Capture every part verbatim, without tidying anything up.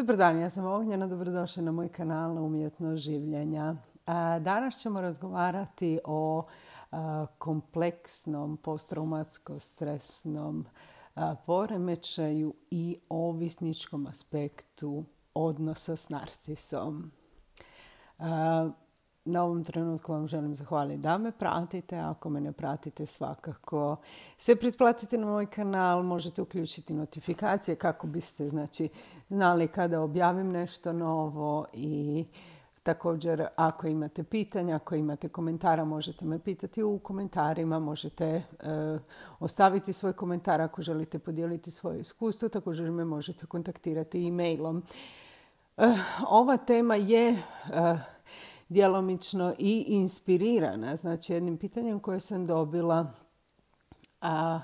Dobar dan, ja sam Ognjena, dobrodošli na moj kanal na Umjetnost življenja. Danas ćemo razgovarati o kompleksnom posttraumatsko-stresnom poremećaju i ovisničkom aspektu odnosa s narcisom. Na ovom trenutku vam želim zahvaliti da me pratite. Ako me ne pratite, svakako se pretplatite na moj kanal. Možete uključiti notifikacije kako biste znači, znali kada objavim nešto novo. I također, ako imate pitanja, ako imate komentara, možete me pitati u komentarima. Možete e, ostaviti svoj komentar ako želite podijeliti svoje iskustvo. Također me možete kontaktirati e-mailom. E, ova tema je... E, djelomično i inspirirana, znači jednim pitanjem koje sam dobila a,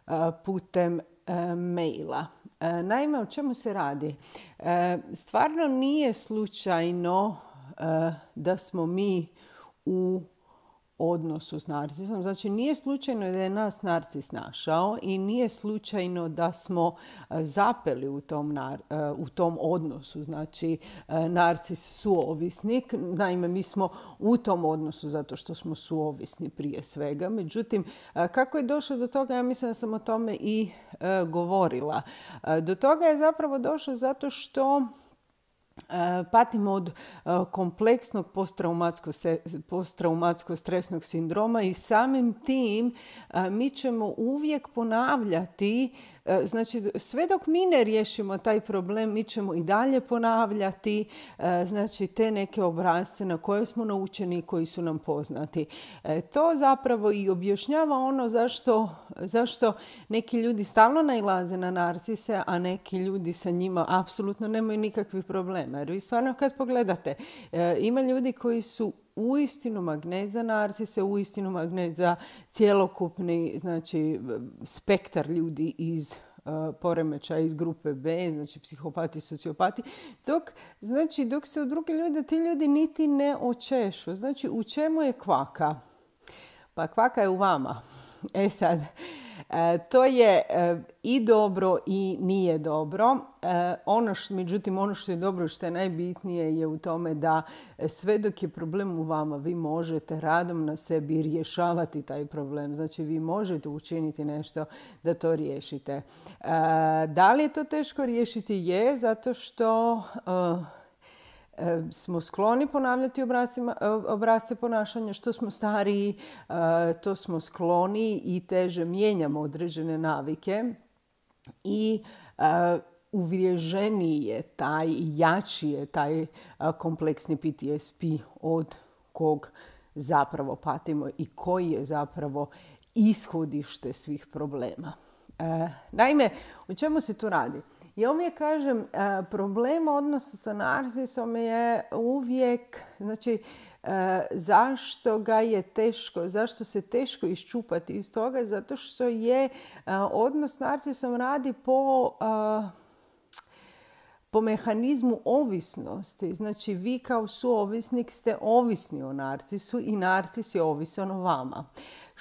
a, putem a, maila. A, naime, o čemu se radi? A, stvarno nije slučajno a, da smo mi u odnosu s narcisom. Znači, nije slučajno da je nas narcis našao i nije slučajno da smo zapeli u tom, nar, u tom odnosu. Znači, narcis suovisnik. Naime, mi smo u tom odnosu zato što smo suovisni prije svega. Međutim, kako je došlo do toga, ja mislim da sam o tome i govorila. Do toga je zapravo došlo zato što patimo od kompleksnog posttraumatsko-stresnog sindroma i samim tim mi ćemo uvijek ponavljati, znači sve dok mi ne riješimo taj problem, mi ćemo i dalje ponavljati znači te neke obrasce na koje smo naučeni i koji su nam poznati. To zapravo i objašnjava ono zašto, zašto neki ljudi stalno nailaze na narcise, a neki ljudi sa njima apsolutno nemaju nikakvih problema. Jer vi stvarno kad pogledate, ima ljudi koji su uistinu magnet za narcise, uistinu magnet za cjelokupni znači, spektar ljudi iz uh, poremećaja iz grupe B, znači psihopati, sociopati, dok, znači, dok se u druge ljude ti ljudi niti ne očešu. Znači, u čemu je kvaka? Pa kvaka je u vama. E sad, E, to je e, i dobro i nije dobro. E, ono š, međutim, ono što je dobro, što je najbitnije je u tome da sve dok je problem u vama, vi možete radom na sebi rješavati taj problem. Znači, vi možete učiniti nešto da to riješite. E, da li je to teško riješiti? Je, zato što... E, smo skloni ponavljati obrasce ponašanja. Što smo stariji, to smo skloni i teže mijenjamo određene navike. I uvriježeniji je taj, jači je taj kompleksni P T S P od kog zapravo patimo i koji je zapravo ishodište svih problema. Naime, o čemu se tu radi? Ja uvijek kažem, problem odnosa sa narcisom je uvijek, znači, zašto ga je teško, zašto se teško iščupati iz toga, zato što je odnos s narcisom radi po, po mehanizmu ovisnosti. Znači, vi kao suovisnik ste ovisni o narcisu i narcis je ovisan o vama.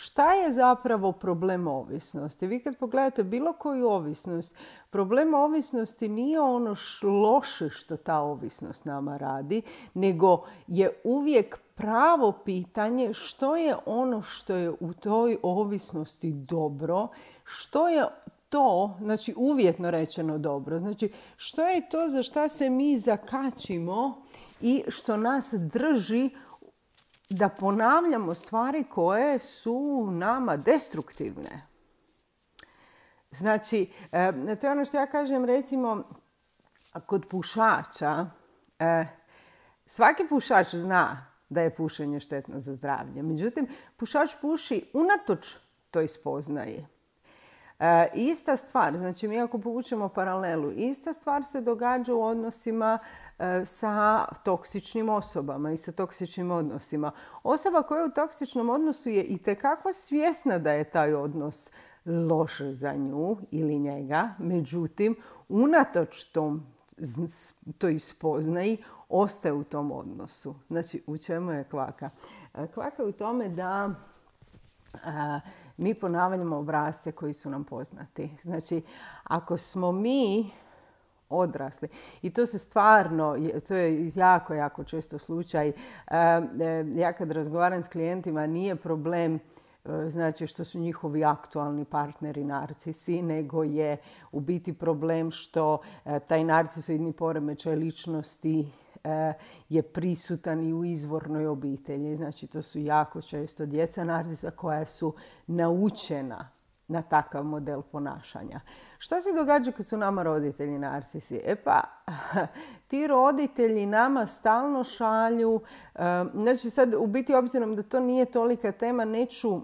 Šta je zapravo problem ovisnosti? Vi kad pogledate bilo koju ovisnost, problem ovisnosti nije ono loše što ta ovisnost nama radi, nego je uvijek pravo pitanje što je ono što je u toj ovisnosti dobro, što je to, znači uvjetno rečeno dobro, znači što je to za šta se mi zakačimo i što nas drži da ponavljamo stvari koje su nama destruktivne. Znači, to je ono što ja kažem, recimo, kod pušača, svaki pušač zna da je pušenje štetno za zdravlje. Međutim, pušač puši unatoč toj spoznaji. E, ista stvar, znači mi ako povučemo paralelu, ista stvar se događa u odnosima e, sa toksičnim osobama i sa toksičnim odnosima. Osoba koja je u toksičnom odnosu je itekako svjesna da je taj odnos loš za nju ili njega, međutim, unatoč tom, toj spoznaji, ostaje u tom odnosu. Znači, u čemu je kvaka? Kvaka je u tome da a, mi ponavljamo obrasce koji su nam poznati. Znači, ako smo mi odrasli. I to se stvarno, to je jako, jako često slučaj. Ja kad razgovaram s klijentima, nije problem znači što su njihovi aktualni partneri narcisi, nego je u biti problem što taj narcisoidni poremećaj ličnosti je prisutan i u izvornoj obitelji. Znači to su jako često djeca narcisa koja su naučena na takav model ponašanja. Šta se događa kad su nama roditelji narcisi? E pa, ti roditelji nama stalno šalju, znači sad u biti obzirom da to nije tolika tema, neću,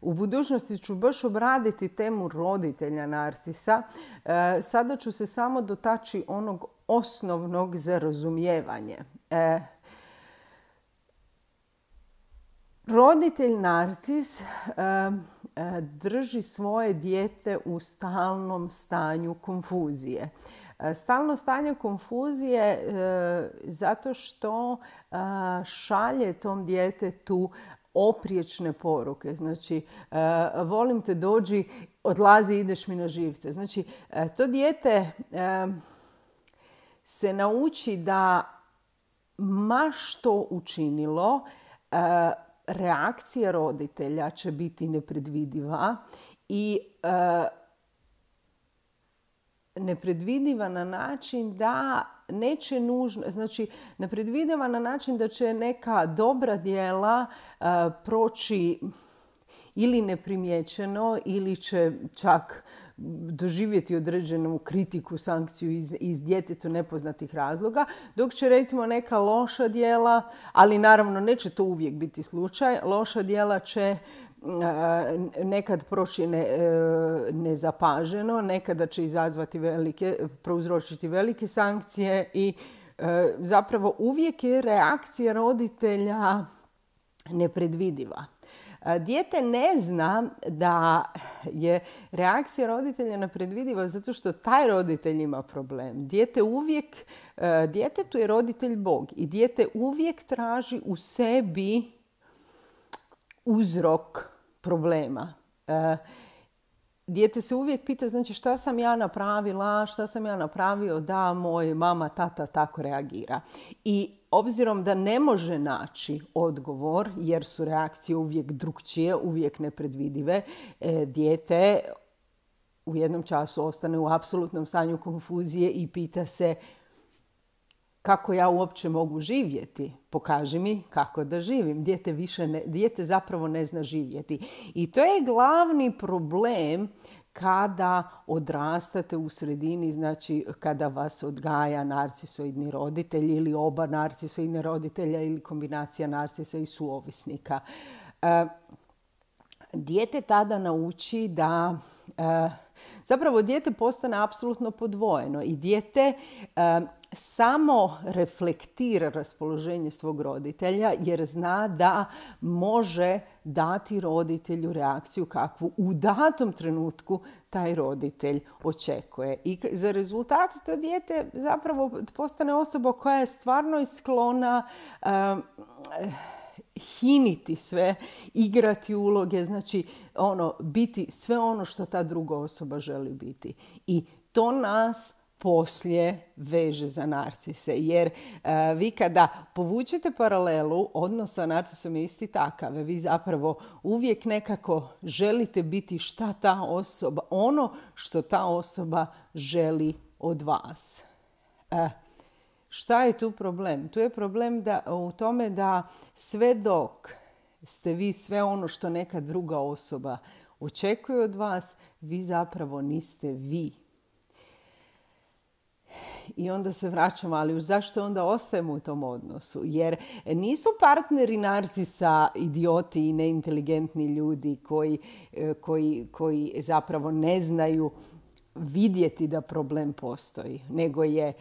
u budućnosti ću baš obraditi temu roditelja narcisa. Sada ću se samo dotaći onog osnovnog za razumijevanje. Roditelj narcis drži svoje dijete u stalnom stanju konfuzije. Stalno stanje konfuzije zato što šalje tom djetetu opriječne poruke. Znači, volim te, dođi, odlazi, ideš mi na živce. Znači, to dijete se nauči da ma što učinilo, reakcija roditelja će biti nepredvidiva i e, nepredvidiva na način da neće nužno, znači nepredvidiva na način da će neka dobra djela e, proći ili neprimjećeno ili će čak doživjeti određenu kritiku, sankciju iz, iz djetetu nepoznatih razloga, dok će recimo neka loša djela, ali naravno neće to uvijek biti slučaj, loša djela će nekad proći ne, nezapaženo, nekada će izazvati velike, prouzročiti velike sankcije i zapravo uvijek je reakcija roditelja nepredvidiva. Dijete ne zna da je reakcija roditelja nepredvidiva zato što taj roditelj ima problem. Dijete uvijek, djetetu je roditelj Bog i dijete uvijek traži u sebi uzrok problema. Dijete se uvijek pita, znači šta sam ja napravila, šta sam ja napravio da moj mama, tata tako reagira. I obzirom da ne može naći odgovor, jer su reakcije uvijek drukčije, uvijek nepredvidive, dijete u jednom času ostane u apsolutnom stanju konfuzije i pita se kako ja uopće mogu živjeti. Pokaži mi kako da živim. Dijete, više ne, dijete zapravo ne zna živjeti. I to je glavni problem kada odrastate u sredini, znači kada vas odgaja narcisoidni roditelj ili oba narcisoidne roditelja ili kombinacija narcisa i suovisnika. E, dijete tada nauči da... E, zapravo dijete postane apsolutno podvojeno i dijete e, samo reflektira raspoloženje svog roditelja jer zna da može dati roditelju reakciju kakvu u datom trenutku taj roditelj očekuje. I za rezultat to dijete zapravo postane osoba koja je stvarno sklona e, hiniti sve, igrati uloge, znači ono, biti sve ono što ta druga osoba želi biti. I to nas poslije veže za narcise. Jer uh, vi kada povučete paralelu, odnos sa narcisom je isti takav. Vi zapravo uvijek nekako želite biti šta ta osoba, ono što ta osoba želi od vas. Uh, Šta je tu problem? Tu je problem da, u tome da sve dok ste vi sve ono što neka druga osoba očekuje od vas, vi zapravo niste vi. I onda se vraćamo, ali zašto onda ostajemo u tom odnosu? Jer nisu partneri narcisa idioti i neinteligentni ljudi koji, koji, koji zapravo ne znaju vidjeti da problem postoji, nego je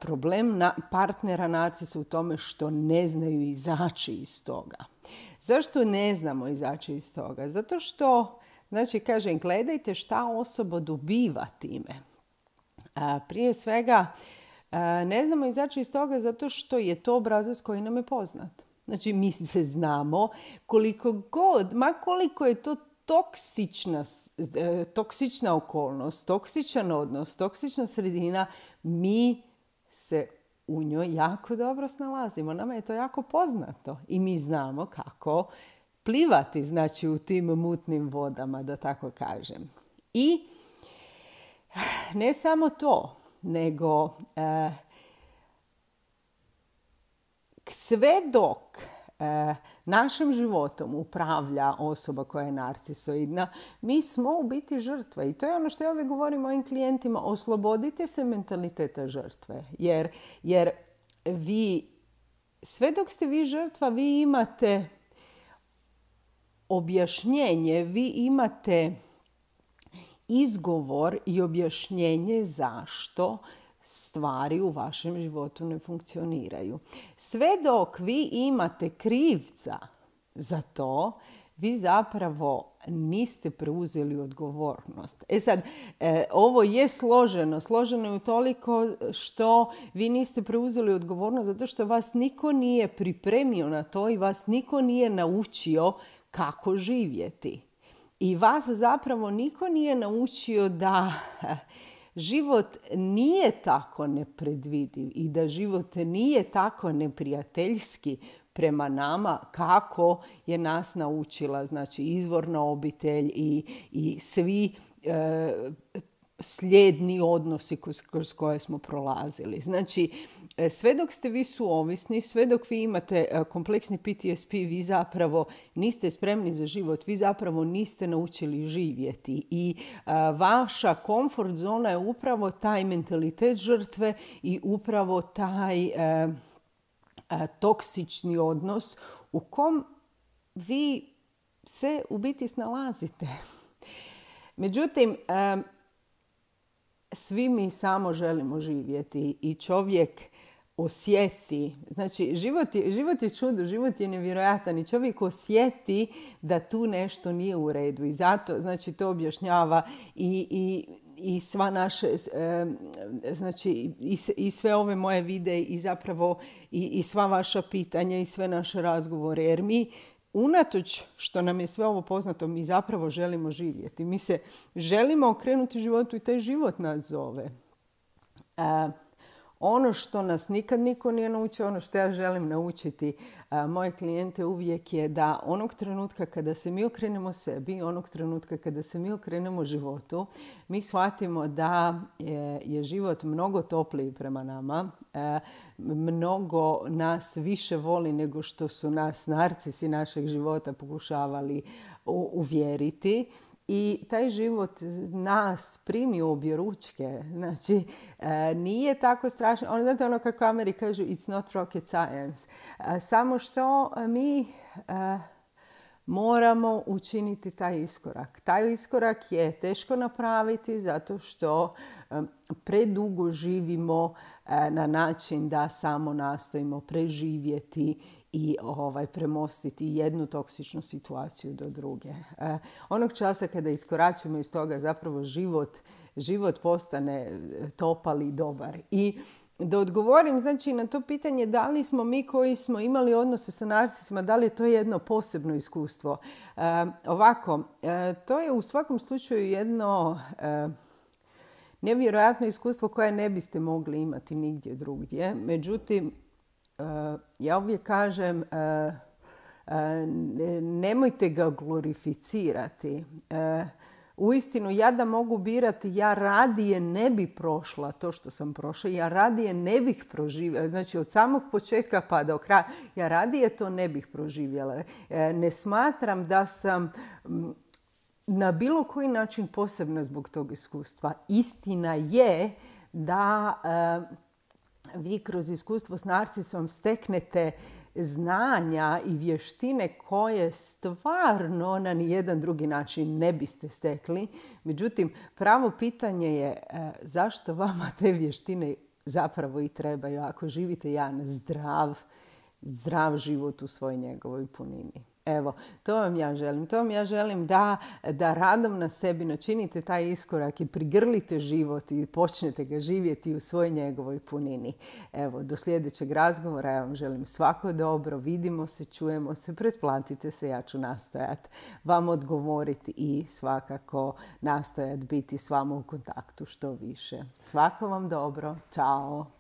problem na partnera narcisa u tome što ne znaju izaći iz toga. Zašto ne znamo izaći iz toga? Zato što, znači, kažem, gledajte šta osoba dobiva time. Prije svega, ne znamo izaći iz toga zato što je to obrazac koji nam je poznat. Znači, mi se znamo koliko god, ma koliko je to toksična, toksična okolnost, toksičan odnos, toksična sredina, mi se u njoj jako dobro snalazimo. Nama je to jako poznato i mi znamo kako plivati, znači u tim mutnim vodama, da tako kažem. I ne samo to, nego eh, sve dok eh, našim životom upravlja osoba koja je narcisoidna, mi smo u biti žrtve. I to je ono što ja uvijek govorim mojim klijentima, oslobodite se mentaliteta žrtve. Jer, jer vi, sve dok ste vi žrtva, vi imate objašnjenje, vi imate izgovor i objašnjenje zašto stvari u vašem životu ne funkcioniraju. Sve dok vi imate krivca za to, vi zapravo niste preuzeli odgovornost. E sad, e, ovo je složeno. Složeno je utoliko što vi niste preuzeli odgovornost zato što vas niko nije pripremio na to i vas niko nije naučio kako živjeti. I vas zapravo niko nije naučio da život nije tako nepredvidiv i da život nije tako neprijateljski prema nama kako je nas naučila, znači izvorna obitelj i, i svi e, slijedni odnosi kroz, kroz koje smo prolazili. Znači, sve dok ste vi suovisni, sve dok vi imate kompleksni P T S P, vi zapravo niste spremni za život, vi zapravo niste naučili živjeti. I a, vaša komfort zona je upravo taj mentalitet žrtve i upravo taj a, a, toksični odnos u kom vi se u biti snalazite. Međutim, a, svi mi samo želimo živjeti i čovjek osjeti, znači život je, život je čudo, život je nevjerojatan i čovjek osjeti da tu nešto nije u redu i zato, znači, to objašnjava i, i, i sva naše, znači, i, i sve ove moje videe i zapravo i, i sva vaša pitanja i sve naše razgovore, jer mi unatoč što nam je sve ovo poznato, mi zapravo želimo živjeti. Mi se želimo okrenuti životu i taj život nas zove. E, ono što nas nikad niko nije naučio, ono što ja želim naučiti a, moje klijente uvijek je da onog trenutka kada se mi okrenemo sebi, onog trenutka kada se mi okrenemo životu, mi shvatimo da je, je život mnogo topliji prema nama, e, mnogo nas više voli nego što su nas narcisi našeg života pokušavali u, uvjeriti. I taj život nas primi u obje ručke. Znači, e, nije tako strašno. Ono, znate ono kako Ameri kažu, it's not rocket science. E, samo što mi e, moramo učiniti taj iskorak. Taj iskorak je teško napraviti zato što e, predugo živimo e, na način da samo nastojimo preživjeti i ovaj, premostiti jednu toksičnu situaciju do druge. E, onog časa kada iskoračimo iz toga, zapravo život, život postane topal i dobar. I da odgovorim, znači, na to pitanje da li smo mi koji smo imali odnose sa narcisima, da li je to jedno posebno iskustvo. E, ovako, e, to je u svakom slučaju jedno e, nevjerojatno iskustvo koje ne biste mogli imati nigdje drugdje. Međutim, ja uvijek kažem, nemojte ga glorificirati. Uistinu, ja da mogu birati, ja radije ne bi prošla to što sam prošla. Ja radije ne bih proživjela. Znači, od samog početka pa do kraja, ja radije to ne bih proživjela. Ne smatram da sam na bilo koji način posebna zbog tog iskustva. Istina je da vi kroz iskustvo s narcisom steknete znanja i vještine koje stvarno na nijedan drugi način ne biste stekli. Međutim, pravo pitanje je zašto vama te vještine zapravo i trebaju ako živite jedan zdrav, zdrav život u svojoj njegovoj punini. Evo, to vam ja želim. To vam ja želim da, da radom na sebi načinite taj iskorak i prigrlite život i počnete ga živjeti u svojoj njegovoj punini. Evo, do sljedećeg razgovora ja vam želim svako dobro. Vidimo se, čujemo se, pretplatite se. Ja ću nastojati vam odgovoriti i svakako nastojati biti s vama u kontaktu što više. Svako vam dobro. Ćao!